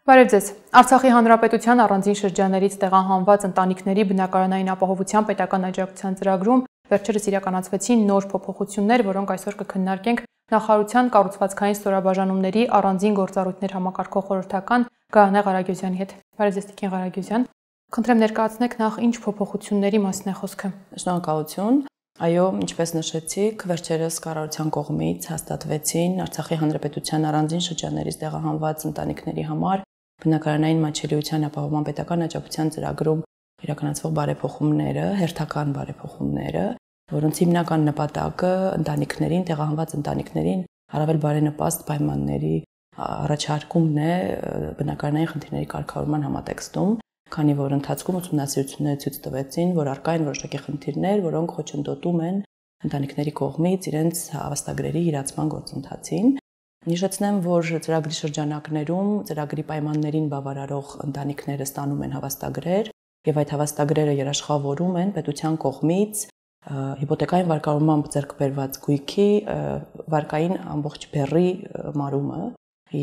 Բարև ձեզ։ Արցախի հանրապետության առանձին շրջաններից տեղահանված ընտանիքների բնակարանային ապահովության պետական աջակցության ծրագրում վերջերս իրականացվեցին նոր փոփոխություններ, որոնք այսօր կքննարկենք նախարարության կառուցվածքային ստորաբաժանումների առանձին գործառույթներ համակարգող խորհրդական Գահնե Ղարագյուզյանի հետ։ Բարև ձեզ, Տիկին Ղարագյուզյան։ Խնդրեմ ներկայացնեք նախ ինչ փոփոխությունների մասին է խոսքը։ Շնորհակալություն։ Այո, ինչպես նշեցիք, վերջերս կառավարության կողմից հաստատվեցին Արցախի հանրապետության առանձին շրջաններից տեղահանված ընտանիքների համար բնակարանային մատչելիության ապահովման պետական աջակցության ծրագրում իրականացվող բարեփոխումները, հերթական բարեփոխումները, որոնց հիմնական նպատակը ընտանիքներին, տեղահանված ընտանիքներին առավել բարենպաստ պայմանների առաջարկումն է բնակարանային խնդիրների կարգավորման համատեքստում, քանի որ ընթացքում ուսումնասիրությունները ցույց տվեցին, որ առկա են որոշակի խնդիրներ, որոնք խոչընդոտում են ընտանիքների կողմից իրենց հավաստագրերի իրացման գործընթացին։ Նշեցնեմ, որ ծրագրի շրջանակներում ծրագրի պայմաններին բավարարող ընտանիքները ստանում են հավաստագրեր եւ այդ հավաստագրերը երաշխավորում են պետության կողմից հիպոթեկային վարկավորմամբ ձեռք բերված գույքի վարկային ամբողջ բեռի մարումը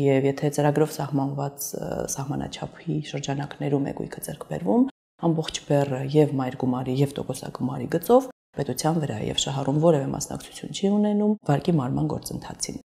եւ եթե ծրագրով սահմանված սահմանաչափի շրջանակներում է գույքը ձեռք բերվում, ամբողջ բեռը եւ մայր գումարի եւ տոկոսագումարի գծով պետության վրա եւ շահառուն որևէ մասնակցություն չի ունենում վարկի մարման գործընթացին։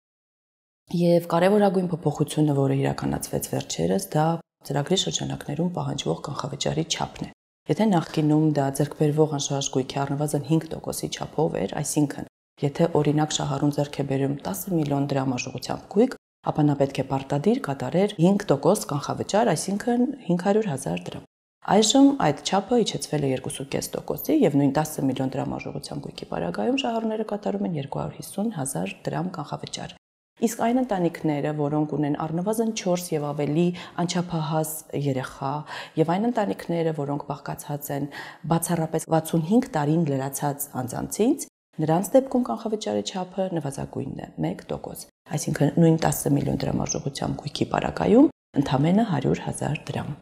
Եվ կարևորագույն փոփոխությունը, որը իրականացվեց վերջերս, դա ծրագրի շրջանակներում պահանջվող կանխավճարի չափն է։ Եթե նախկինում դա ձեռքբերվող անշարժ գույքի առնվազն 5%-ի չափով էր, այսինքն, եթե օրինակ շահառուն ձեռք է բերում 10 միլիոն դրամ արժողությամբ գույք, ապա նա պետք է պարտադիր կատարեր 5% կանխավճար, այսինքն 500,000 դրամ։ Այժմ այդ չափը իջեցվել է 2.5%-ի եւ նույն 10 միլիոն դրամ արժողությամբ գույքի պարագայում շահառուները կատարում են 250,000 դրամ կանխավճար։ Իսկ այն ընտանիքները, որոնք ունեն առնվազն 4 եւ ավելի անչափահաս երեխա, եւ այն ընտանիքները, որոնք բաղկացած են բացառապես 65 տարին լրացած անձանցից, նրանց դեպքում կանխավճարի չափը նվազագույնն է 1%, այսինքն նույն 10 միլիոն դրամ արժողությամբ գույքի պարագայում ընդամենը 100,000 դրամ։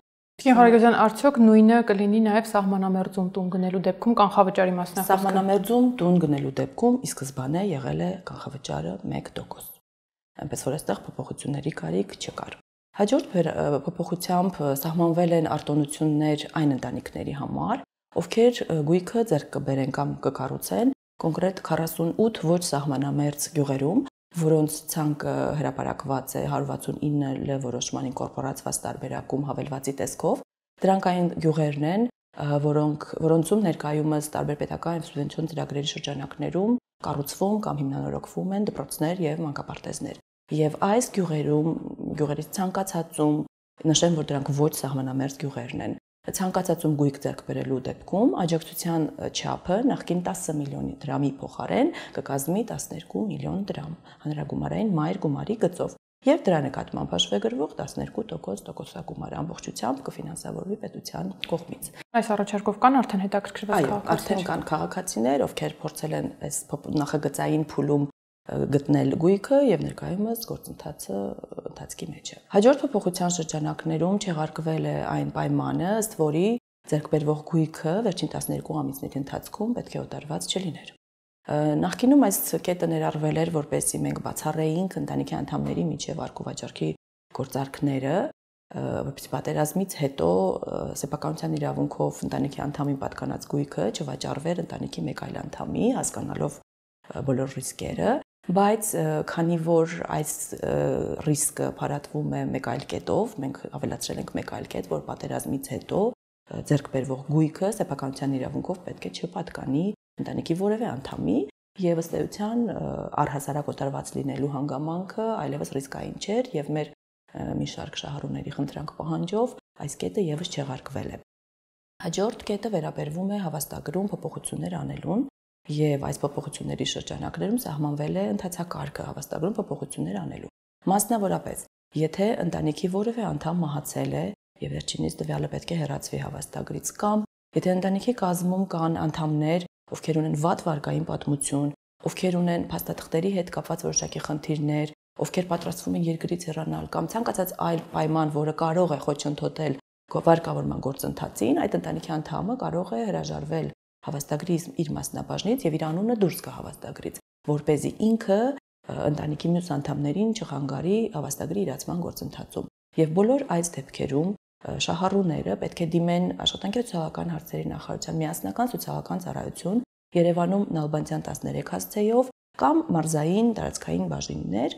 Տիկին Ղարագյուզյան, արդյոք նույնը կլինի նաեւ սահմանամերձում տուն գնելու դեպքում կանխավճարի մասն է խոսքը։ Սահմանամերձում տուն գնելու դեպքում ի սկզբանե եղել է կանխավճարը 1%։ Այնպես որ այստեղ փոփոխությունների կարիք չկար։ Հաջորդ փոփոխությամբ սահմանվել են արտոնություններ այն ընտանիքների համար, ովքեր գույքը ձեռք կբերեն կամ կկառուցեն կոնկրետ 48 ոչ սահմանամերձ գյուղերում, որոնց ցանկը հրապարակված է 169 Լ որոշմանին կորպորացված տարբերակում հավելվածի տեսքով։ Դրանք այն գյուղերն են, որոնցում ներկայումս տարբեր պետական եւ սուբվենցիոն ծրագրերի շրջանակներում կառուցվում կամ հիմնանորոգվում են դպրոցներ եւ մանկապարտեզներ։ Եվ այս գյուղերից ցանկացածում, նշեմ, որ դրանք ոչ սահմանամերձ գյուղերն են, ցանկացածում գույք ձեռք բերելու դեպքում աջակցության չափը նախկին 10 միլիոն դրամի փոխարեն կկազմի 12 միլիոն դրամ հանրագումարային մայր գումարի գծով եւ դրա նկատմամբ հաշվեգրվող 12% տոկոսագումար ամբողջությամբ կֆինանսավորվի պետության կողմից։ Այս առաջարկով կան արդեն հետաքրքրված քաղաքացիներ։ Այո, արդեն կան քաղաքացիներ, ովքեր փորձել են այս նախագծային փուլում գտնել գույքը եւ ներկայումս գործընթացը ընթացքի մեջ է։ Հաջորդ փոփոխության շրջանակներում չեղարկվել է այն պայմանը, ըստ որի ձեռք բերվող գույքը վերջին 12 ամիսների ընթացքում պետք է օտարված չլիներ։ Նախկինում այս կետը ներառվել էր, որպեսզի մենք բացառեինք ընտանիքի անդամների միջև վարկու վաճառքի գործարքները, որպեսզի պատերազմից հետո սեփականության իրավունքով ընտանիքի անդամին պատկանած գույքը չվաճառվեր ընտանիքի մեկ այլ անդամի, հասկանալով բոլոր ռիսկերը, բայց քանի որ այս ռիսկը փարատվում է մեկ այլ կետով, մենք ավելացրել ենք մեկ այլ կետ, որ պատերազմից հետո ձեռք բերվող գույքը սեփականության իրավունքով պետք է չպատկանի ընտանիքի որևէ անդամի եւ ըստ էության առհասարակ օտարված լինելու հանգամանքը այլևս ռիսկային չէր եւ մեր մի շարք շահառուների խնդրանք պահանջով այս կետը եւս չեղարկվել է։ Հաջորդ կետը վերաբերվում է հավաստագրում փոփոխություններ անելուն եւ այս փոփոխությունների շրջանակներում սահմանվել է ընթացակարգը հավաստագրում փոփոխություններ անելու։ Մասնավորապես, եթե ընտանիքի որևէ անդամ մահացել է եւ վերջինիս տվյալը պետք է հեռացվի հավաստագրից կամ եթե ընտանիքի կազմում կան անդամներ, ովքեր ունեն վատ վարկային պատմություն, ովքեր ունեն փաստաթղթերի հետ կապված որոշակի խնդիրներ, ովքեր պատրաստվում են երկրից հեռանալ կամ ցանկացած այլ պայման, որը կարող է խոչընդոտել վարկավորման գործընթացին, այդ ընտանիքի անդամը կարող է հրաժարվել հավաստագրի իր մասնաբաժնից եւ իր անունը դուրս գա հավաստագրից, որպեսզի ինքը ընտանիքի մյուս անդամներին չխանգարի հավաստագրի իրացման գործընթացում։ Եվ բոլոր այս դեպքերում շահառուները պետք է դիմեն աշխատանքի սոցիալական հարցերի նախարարության միասնական սոցիալական ծառայություն Երևանում Նալբանդյան 13 հասցեով կամ մարզային տարածքային բաժիններ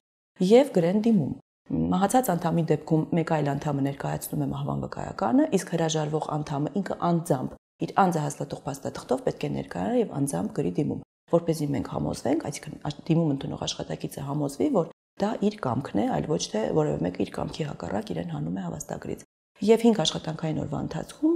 եւ գրեն դիմում։ Մահացած անդամի դեպքում մեկ այլ անդամը ներկայացնում է մահվան վկայականը, իսկ հրաժարվող անդամը ինքը անձամբ իր անձը հաստատող փաստաթղթով պետք է ներկայանա եւ անձամբ գրի դիմում, որպեսզի մենք համոզվենք, այսինքն դիմում ընդունող աշխատակիցը համոզվի, որ դա իր կամքն է, այլ ոչ թե որևէ մեկը իր կամքի հակառակ իրեն հանում է հավաստագրից։ Եվ 5 աշխատանքային օրվա ընթացքում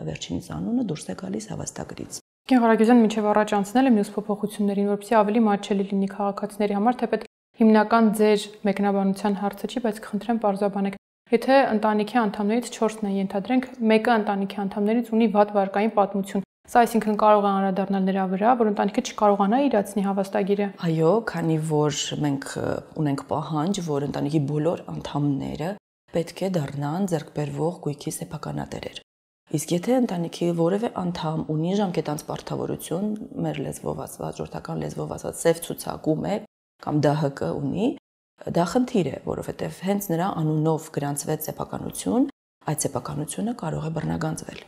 վերջինիս անունը դուրս է գալիս հավաստագրից։ Գեն Ղարագյուզյան մինչև առաջ անցնել է մյուս փոփոխություններին, որպեսզի ավելի մատչելի լինի քաղաքացիների համար, թեպետ հիմնական ձեր մեկնաբանության հարցը չի, բայց կխնդրեմ պարզաբանեք։ Եթե ընտանիքի անդամներից 4-ն են, ենթադրենք, մեկը ընտանիքի անդամներից ունի վատ վարկային պատմություն, սա այսինքն կարող է անդրադառնալ նրա վրա, որ ընտանիքը չկարողանա իրացնի հավաստագիրը։ Այո, քանի որ մենք ունենք պահանջ, որ ընտանիքի բոլոր անդամները պետք է դառնան ձեռքբերվող գույքի սեփականատերեր։ Իսկ եթե ընտանիքի որևէ անդամ ունի ժամկետանց պարտավորություն, մեր լեզվով ասված, ժողովրդական լեզվով ասված, սև ցուցակում է կամ ԴՀԿ ունի, դա խնդիր է, որովհետև հենց նրա անունով գրանցվեց սեփականություն, այդ սեփականությունը կարող է բռնագանձվել։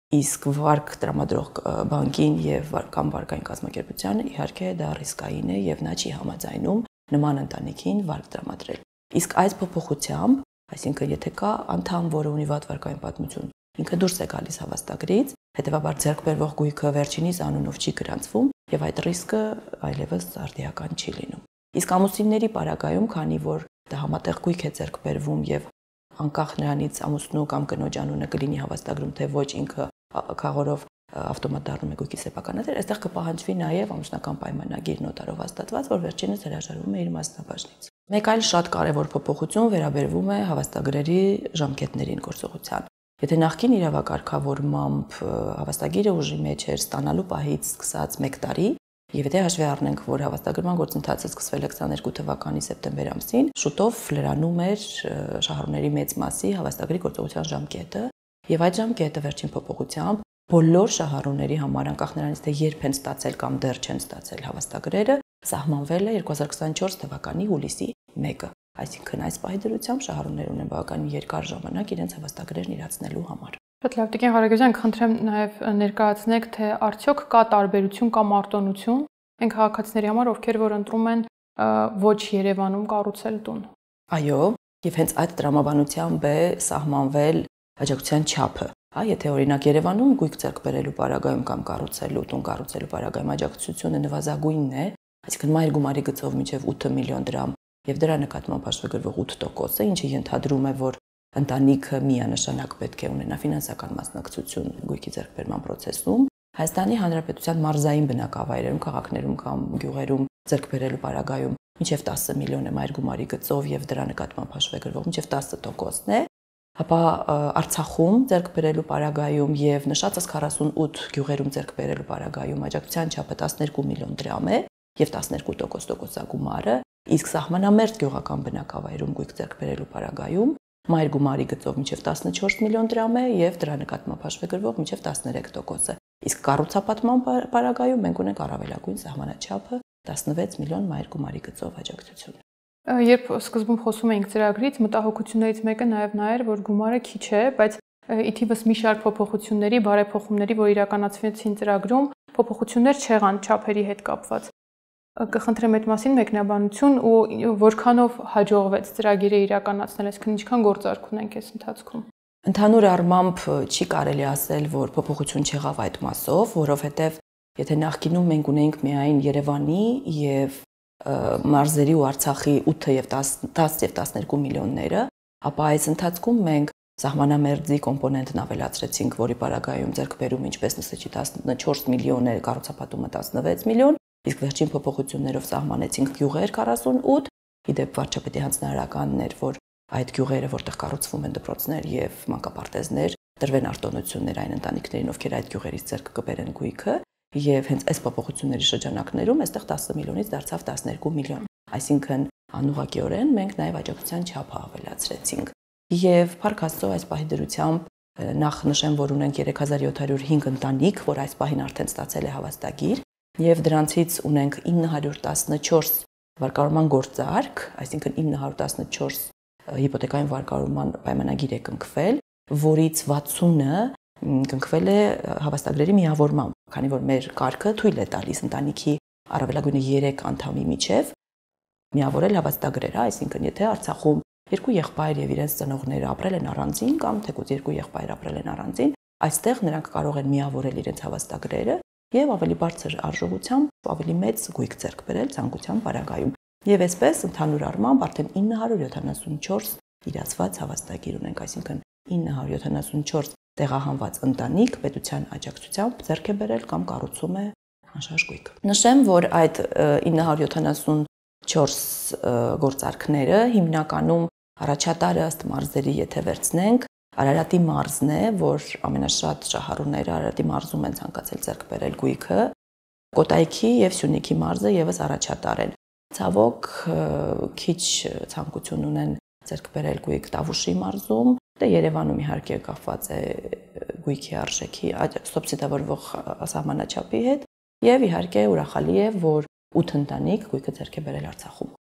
Իսկ վարկ տրամադրող բանկին եւ կամ վարկային կազմակերպությանը իհարկե դա ռիսկային է եւ նա չի համաձայնում նման ընտանիքին վարկ տրամադրել։ Իսկ այս փոփոխությամբ, այսինքն եթե կա անդամ, որը ունի վատ վարկային պատմություն, ինքը դուրս է գալիս հավաստագրից, հետեւաբար ձեռքբերվող գույքը վերջինիս անունով չի գրանցվում եւ այդ ռիսկը այլևս արդիական չի լինում։ Իսկ ամուսինների պարագայում, քանի որ դա համատեղ գույք է ձեռքբերվում եւ անկախ նրանից ամուսնու կամ կնոջ անունը կլինի հավաստագրում, թե ոչ ինքը քաղորով ավտոմատ դառնում է գույքի սեփականատեր, այստեղ կպահանջվի նաեւ ամուսնական պայմանագիր նոտարով հաստատված, որ վերջինս հրաժարվում է իր մասնաբաժնից։ Մեկ այլ շատ կարևոր փոփոխություն վերաբերվում է հավաստագրերի ժամկետներին գործողության։ Եթե նախկին իրավակարգավորմամբ հավաստագիրը ուժի մեջ էր ստանալու պահից սկսած 1 տարի, եւ եթե հաշվի առնենք, որ հավաստագրման գործընթացը սկսվել է 22 թվականի սեպտեմբեր ամսին, շուտով լրանում էր շահառուների մեծ մասի հավաստագրի գործողության ժամկետը, եւ այդ ժամկետը վերջին փոփոխությամբ բոլոր շահառուների համար, անկախ նրանից թե երբ են ստացել կամ դեռ չեն ստացել հավաստագրերը, սահմանվել է 2024 թվականի հուլիսի 1-ը։ Այսինքն այս պահի դրությամբ շահառուներ ունեն բավականին երկար ժամանակ իրենց հավաստագրերն իրացնելու համար։ Շատ լավ, Տիկին Ղարագյուզյան, խնդրեմ նաև ներկայացնեք, թե արդյոք կա տարբերություն կամ արտոնություն այն քաղաքացիների համար, ովքեր որ ընտրում են ոչ Երևանում կառուցել տուն։ Այո, եւ հենց այդ տրամաբանությամբ է սահմանվել աջակցության չափը։ Եթե օրինակ Երևանում գույք ձեռք բերելու պարագայում կամ կառուցելու տուն կառուցելու պարագայում աջակցությունը նվազագույնն է, այսինքն մայր գումարի գծով մինչև 8 միլիոն դրամ եւ դրա նկատմամբ հաշվագրվող 8%-ը, ինչը ենթադրում է, որ ընտանիքը միանշանակ պետք է ունենա ֆինանսական մասնակցություն գույքի ձեռքբերման process-ում, Հայաստանի Հանրապետության մարզային բնակավայրերում, քաղաքներում կամ գյուղերում ձեռքբերելու պարագայում մինչև 10 միլիոն է մայր գումարի գծով եւ դրա նկատմամբ հաշվագրվող մինչև 10%-ն է, ապա Արցախում ձեռքբերելու պարագայում եւ նշածս 48 գյուղերում ձեռքբերելու պարագայում աջակցության չափը 12 միլիոն դրամ է եւ 12% տոկոսագումարը, իսկ սահմանամերձ գյուղական բնակավայրում գույք ձեռքբերելու պարագայում մայր գումարի գծով մինչև 14 միլիոն դրամ է եւ դրա նկատմամբ հաշվագրվող մինչև 13%-ը։ Իսկ կառուցապատման պարագայում մենք ունենք առավելագույն սահմանաչափը 16 միլիոն մայր գումարի գծով աջակցություն։ Երբ սկզբում խոսում էինք ծրագրից, մտահոգություններից մեկը նաեւ նա էր, որ գումարը քիչ է, բայց ի թիվս մի շարք փոփոխությունների, բարեփոխումների, որ իրականացվեցին ծրագրում, փոփոխություններ չեղան չափերի հետ կապված։ Կխնդրեմ այդ մասին մեկնաբանություն ու որքանով հաջողվեց ծրագիրը իրականացնել, այսինքն ինչքան գործարք ունենք այս ընթացքում։ Ընդհանուր առմամբ չի կարելի ասել, որ փոփոխություն չեղավ այդ մասով, որովհետև եթե նախկինում մենք ունեինք միայն Երևանի եւ մարզերի ու Արցախի 8 եւ 10 եւ 12 միլիոնները, ապա այս ընթացքում մենք սահմանամերձի կոմպոնենտն ավելացրեցինք, որի պարագայում ձեռքբերում ինչպես նշեցի 14 միլիոն է, կառուցապատումը 16 միլիոն, իսկ վերջին փոփոխություններով սահմանեցինք գյուղեր 48, իդեպ վարչապետի հանձնարարականն էր, որ այդ գյուղերը, որտեղ կառուցվում են դպրոցներ եւ մանկապարտեզներ, տրվեն արտոնություններ այն ընտանիքներին, ովքեր այդ գյուղերից ձեռք կբերեն գույքը, եւ հենց այս փոփոխությունների շրջանակներում այստեղ 10 միլիոնից դարձավ 12 միլիոն։ Այսինքն անուղղակիորեն մենք նաեւ աջակցության չափը ավելացրեցինք։ Եվ Փառք Աստծո այս պահի դրությամբ նախ նշեմ, որ ունենք 3705 ընտանիք, որ այս պահին արդեն ստացել է հավաստագիր, եւ դրանցից ունենք 914 վարկավորման գործարք, այսինքն 914 հիպոթեկային վարկարման պայմանագիր է կնքվել, որից 60-ը կնքվել է հավաստագրերի միավորմամբ, քանի որ մեր կարգը թույլ է տալիս ընտանիքի առավելագույնը 3 անդամի միջև միավորել հավաստագրերը, այսինքն եթե Արցախում երկու եղբայր եւ իրենց ծնողները ապրել են առանձին կամ թեկուզ երկու եղբայր ապրել են առանձին, այստեղ նրանք կարող են միավորել իրենց հավաստագրերը եւ ավելի բարձր արժողությամբ ավելի մեծ գույք ձեռք բերել ցանկության պարագայում։ Եվ այսպես ընդհանուր առմամբ արդեն 974 իրացված հավաստագիր ունենք, այսինքն 974 տեղահանված ընտանիք պետության աջակցությամբ ձեռք է բերել կամ կառուցում է անշարժ գույք։ Նշեմ, որ այդ 974 գործարքները հիմնականում առաջատարը ըստ մարզերի եթե վերցնենք, Արարատի մարզն է, որ ամենաշատ շահառուները Արարատի մարզում են ցանկացել ձեռք բերել գույքը, Կոտայքի եւ Սյունիքի մարզը եւս առաջատար են։ Ցավոք քիչ ցանկություն ունեն ձեռք բերել գույք Տավուշի մարզում, դե Երևանում իհարկե կապված է գույքի արժեքի սուբսիդավորվող սահմանաչափի հետ եւ իհարկե ուրախալի է, որ 8 ընտանիք գույքը ձեռք է բերել Արցախում։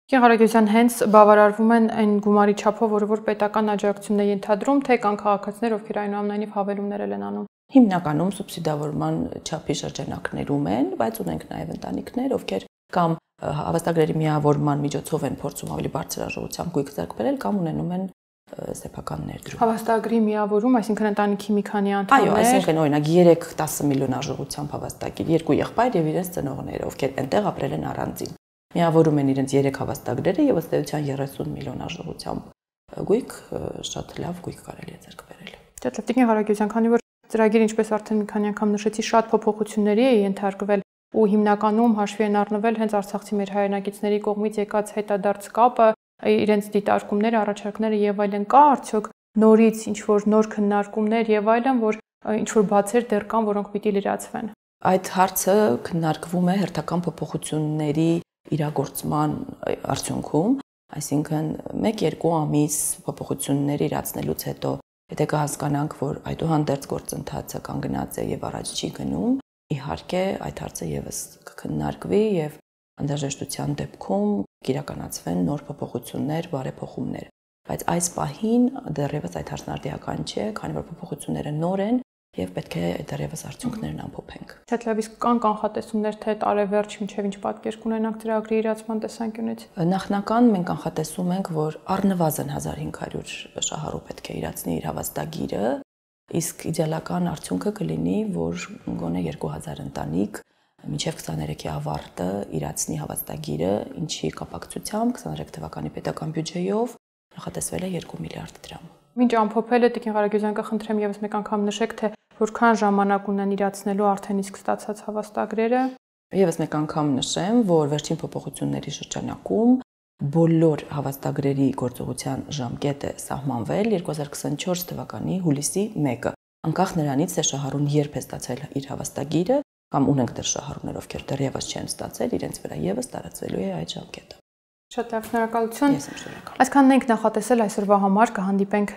Գեղարագյուսյան, հենց բավարարվում են այն գումարի չափով, որ պետական աջակցությունն է ենթադրում, թե կան քաղաքացիներ, ովքեր այնուամենայնիվ հավելումներ են անում։ Հիմնականում սուբսիդավորման չափի շրջանակներում են, բայց ունենք նաև ընտանիքներ, ովքեր կամ հավաստագրերի միավորման միջոցով են փորձում ավելի բարձր արժողությամբ գույք ձեռք բերել կամ ունենում են սեփական ներդրում։ Հավաստագրի միավորում, այսինքն ընտանիքի մի քանի անդամներ։ Այո, այսինքն օրինակ 3-10 միլիոն արժողությամբ հավաստագիր, երկու եղբայր եւ իրենց ծնողները, ովքեր այնտեղ ապրել են առանձին։ Միավորում են իրենց 3 հավաստագրերը եւ ըստ էության 30 միլիոն արժողությամբ գույք, շատ լավ գույք կարելի է ձեռք բերել։ Շատ լավ, Տիկին Ղարագյուսյան, քանի որ ծրագիրը, ինչպես արդեն մի քանի անգամ նշեցի, շատ փոփոխությունների է ենթարկվել ու հիմնականում հաշվի են առնվել հենց արցախցի մեր հայրենակիցների կողմից եկած հետադարձ կապը, իրենց դիտարկումները, առաջարկները եւ այլն, կա արդյոք նորից ինչ որ նոր քննարկումներ եւ այլն, որ ինչ որ բացեր դեռ կան, որոնք պիտի լրացվեն։ Այդ հարցը քննարկվում է հերթական փոփոխությունների իրագործման արդյունքում, այսինքն 1-2 ամիս փոփոխություններ իրացնելուց հետո, եթե կհասկանանք, որ այդուհանդերձ գործընթացը կանգնած է եւ առաջ չի գնում, իհարկե այդ հարցը եւս կքննարկվի եւ անհրաժեշտության դեպքում կիրականացվեն նոր փոփոխություններ, բարեփոխումներ, բայց այս պահին դեռևս այդ հարցն արդիական չէ, քանի որ փոփոխությունները նոր են եւ պետք է դեռևս արդյունքներն ամփոփենք։ Շատ լավ, իսկ կան կանխատեսումներ, թե տարեվերջ մինչեւ ինչ պատկեր կունենանք ծրագրի իրացման տեսանկյունից։ Նախնական մենք կանխատեսում ենք, որ առնվազն 1500 շահառու պետք է իրացնի իր հավաստագիրը, իսկ իդեալական արդյունքը կլինի, որ գոնե 2000 ընտանիք մինչև 23-ի ավարտը իրացնի հավաստագիրը, ինչի կապակցությամբ 23 թվականի պետական բյուջեով նախատեսվել է 2 միլիարդ դրամ։ Մինչ ամփոփելը Տիկին Ղարագյուսյան, կխնդրեմ եւս մեկ անգամ նշեք, թե որքան ժամանակ ունեն իրացնելու արդեն իսկ ստացած հավաստագրերը։ Եվս մեկ անգամ նշեմ, որ վերջին փոփոխությունների շրջանակում բոլոր հավաստագրերի գործողության ժամկետը սահմանվել 2024 թվականի հուլիսի 1-ը։ Անկախ նրանից, թե շահառուն երբ է ստացել իր հավաստագիրը, կամ ունենք դեռ շահառուներ, ովքեր դեռևս չեն ստացել, իրենց վրա եւս տարածվելու է այդ ժամկետը։ Շատ լավ, շնորհակալություն։ Ես եմ շնորհակալ։ Այսքանն ենք նախատեսել այսօրվա համար, կհանդիպենք